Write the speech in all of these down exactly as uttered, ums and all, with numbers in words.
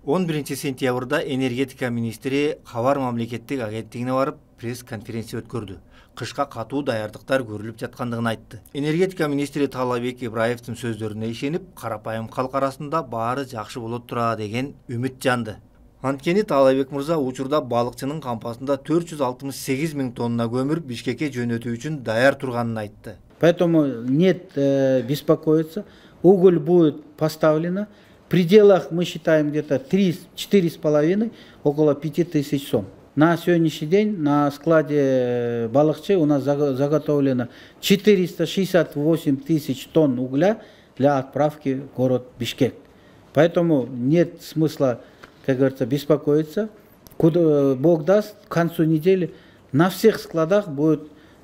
он биринчи сентябрда энергетика министри Хабар мамлекеттик агенттигине барып пресс-конференция өткөрдү. Кышка катуу даярдыктар көрүлүп жаткандыгын айтты. Энергетика министри Таалайбек Ибраевдин сөздөрүнө ишенип, карапайым калк арасында баары жакшы болот тура деген үмүт жанды. Анткени Таалайбек мырза учурда балыкчынын кампасында төрт жүз алтымыш сегиз миң тонна көмүр Бишкекке жөнөтүү үчүн даяр турганын айтты. Поэтому нет э, беспокоиться. Уголь будет поставлено. В пределах мы считаем где-то три-четыре с половиной, около пяти тысяч сом. На сегодняшний день на складе Балыкчы у нас заготовлено четыреста шестьдесят восемь тысяч тонн угля для отправки в город Бишкек. Поэтому нет смысла, как говорится, беспокоиться. Куда Бог даст, к концу недели на всех складах будет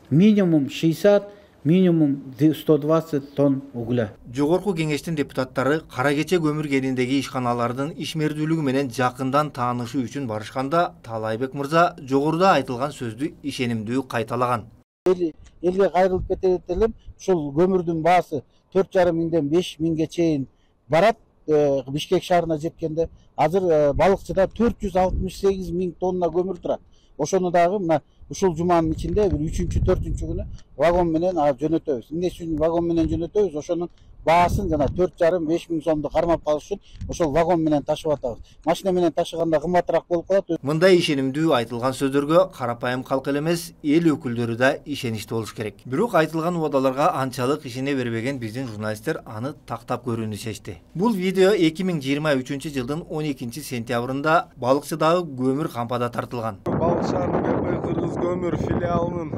минимум шестьдесят, минимум сто двадцать тонн угля. Жогорку кеңештин депутаттары Кара Кече көмүр кениндеги ишканалардын ишмердүүлүгү менен жакындан таанышуу үчүн барышканда Таалайбек мырза жогоруда айтылган сөздү ишенимдүү кайталаган. Элге кайрылып кетет элем, ушул көмүрдүн баасы төрт жарым миңден беш миңге чейин барат. Бишкек шаарына жеткенде азыр Балыкчыда төрт жүз алтымыш сегиз миң тонна көмүр турат. Ошону дагы мына ушул жуманын ичинде бир үчүнчү, төртүнчү күнү вагон менен жөнөтөбүз. Эмне үчүн вагон менен жөнөтөбүз? Ошонун баасын жана төрт жарым беш миң сомду кармап калыш үчүн ошол вагон менен ташып атабыз. Машина менен ташыганда кымбатыраак болуп калат. Мындай ишенимдүү айтылган сөздөргө карапайым калк эле эмес, эл өкүлдөрү да ишеничтүү болуш керек. Бирок айтылган убадаларга анчалык ишене бербеген биздин журналисттер аны тактап көрүүнү чечти. Бул видео эки миң жыйырма үчүнчү жылдын он экинчи сентябрында Балыкчыдагы көмүр кампада тартылган. Балык шаарынын Кыргыз көмүр филиалынын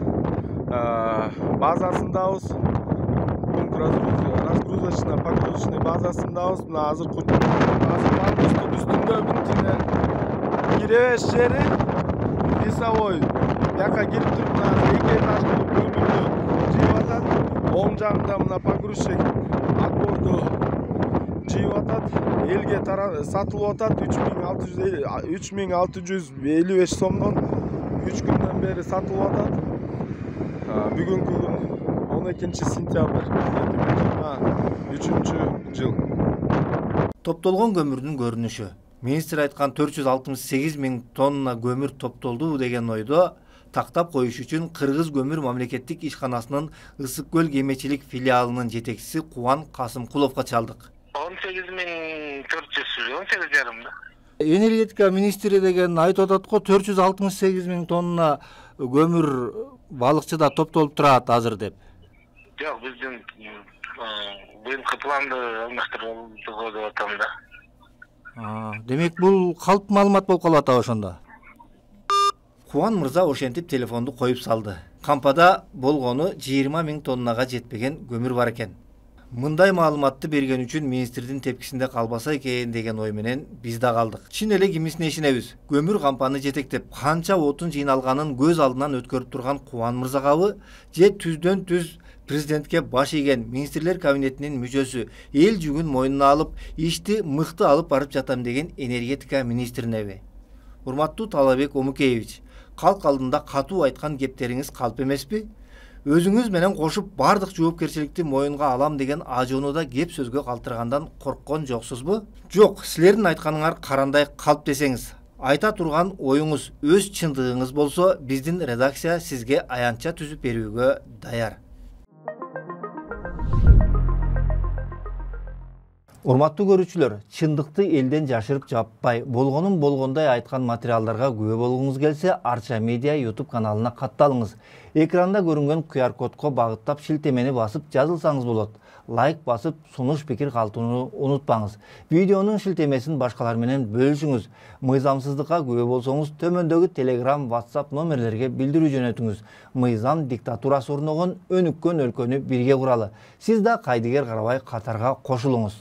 базасындабыз. Пункт разгрузочный погрузочный базасындабыз. Мына азыркы базанын үстүндө бинтине киребеш жери весовой. Бияка кирип туруп мына эки этаждуу көмүрдү жыйып атат. Оң жагында мына погрузчик отборду жыйып атат. Элге сатылып атат үч миң алты жүз элүү беш сомдон. үч күндөн бери сатылып атат. Бүгүнкү күн он экинчи сентябрь эки миң жыйырма үчүнчү жыл. Топтолгон көмүрдүн көрүнүшү. Министр айткан төрт жүз алтымыш сегиз миң тонна көмүр топтолду деген ойдо тактап коюш үчүн Кыргыз көмүр мамлекеттик ишканасынын Ысык көл кемечилик филиалынын жетекчиси Кубан Касымкуловго чалдык. он сегиз миң төрт жүз, он сегиз жарым да. Энергетика министри деген айтып атат го төрт жүз алтымыш сегиз миң тонна көмүр Балыкчыда топтолуп турат азыр деп. Жок, биздин быйылкы планды алмаштырууга деп атам да. Демек бул калп маалымат болуп калып атабы ошондо? Кубан мырза ошентип телефонду коюп салды. Кампада болгону жыйырма миң тоннага жетпеген көмүр бар экен. Мындай маалыматты берген үчүн министрдин тепкисинде калбаса экен деген ой менен биз да калдык. Чын эле кимисине ишенебиз? Көмүр кампаны жетектеп, канча отун жыйналганын көз алдынан өткөрүп турган Кубан мырзагабы же түздөн түз президентке баш ийген министрлер кабинетинин мүчөсү эл жүгүн мойнуна алып, ишти мыкты алып барып жатам деген энергетика министринеби? Урматтуу Таалайбек Омукеевич, калк алдында катуу айткан кептериңиз калп эмеспи? Өзүңүз менен кошуп бардык жоопкерчиликти моюнга алам деген ажоону кеп сөзгө калтыргандан корккон жоксузбу? Жок, силердин айтканыңар карандай калп десеңиз, айта турган оюңуз өз чындыгыңыз болсо, биздин редакция сизге аянтча түзүп берүүгө даяр. Урматтуу көрүүчүлөр, чындыкты элден жашырып жаппай, болгонун болгондой айткан материалдарга күбө болгуңуз келсе, Арча Медиа YouTube каналына катталыңыз. Экранда көрүнгөн ку ар кодко багыттап шилтемени басып жазылсаңыз болот. Лайк басып, сунуш пикир калтырууну унутпаңыз. Видеонун шилтемесин башкалар менен бөлүшүңүз. Мыйзамсыздыкка күбө болсоңуз, төмөндөгү Telegram, WhatsApp номерлерге билдирүү жөнөтүңүз. Мыйзам диктатурасы орногон өнүккөн өлкөнү бирге куралы. Сиз да кайдыгер карабай катарга кошулуңуз.